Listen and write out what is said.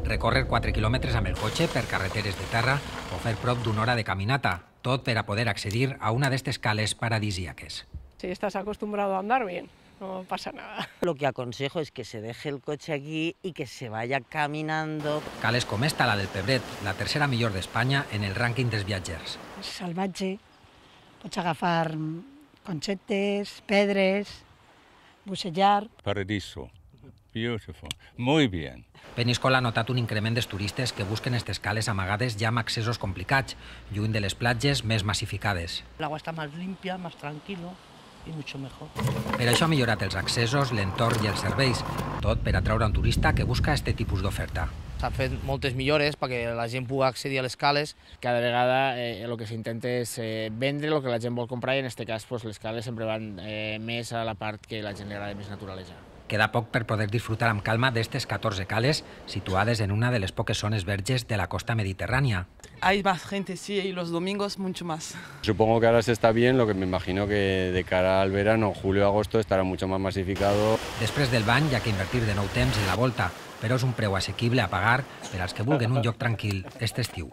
Recórrer 4 quilòmetres amb el cotxe per carreteres de terra o fer prop d'una hora de caminata, tot per a poder accedir a una d'estes cales paradisíaques. Si estás acostumbrado a andar bien, no pasa nada. Lo que aconsejo es que se deje el coche aquí y que se vaya caminando. Cales com esta, la del Pebret, la tercera millor d'Espanya en el rànquing dels viatgers. És salvatge, pots agafar conxetes, pedres, bussellar. Paradiso. Beautiful. Muy bien. Peníscola ha notat un increment dels turistes que busquen aquestes cales amagades ja amb accessos complicats, lluny de les platges més massificades. El agua está más limpia, más tranquilo y mucho mejor. Per això ha millorat els accessos, l'entorn i els serveis, tot per atraure un turista que busca aquest tipus d'oferta. S'han fet moltes millores perquè la gent pugui accedir a les cales. Cada vegada el que s'intenta és vendre el que la gent vol comprar i en aquest cas les cales sempre van més a la part que la gent li agrada més naturalesa. Queda poc per poder disfrutar amb calma d'estes 14 cales situades en una de les poques zones verges de la costa mediterrània. Hay más gente, sí, y los domingos mucho más. Supongo que ahora se está bien, lo que me imagino que de cara al verano, julio-agosto, estará mucho más masificado. Després del bany hi ha que invertir de nou temps en la volta, però és un preu assequible a pagar per als que vulguen un lloc tranquil aquest estiu.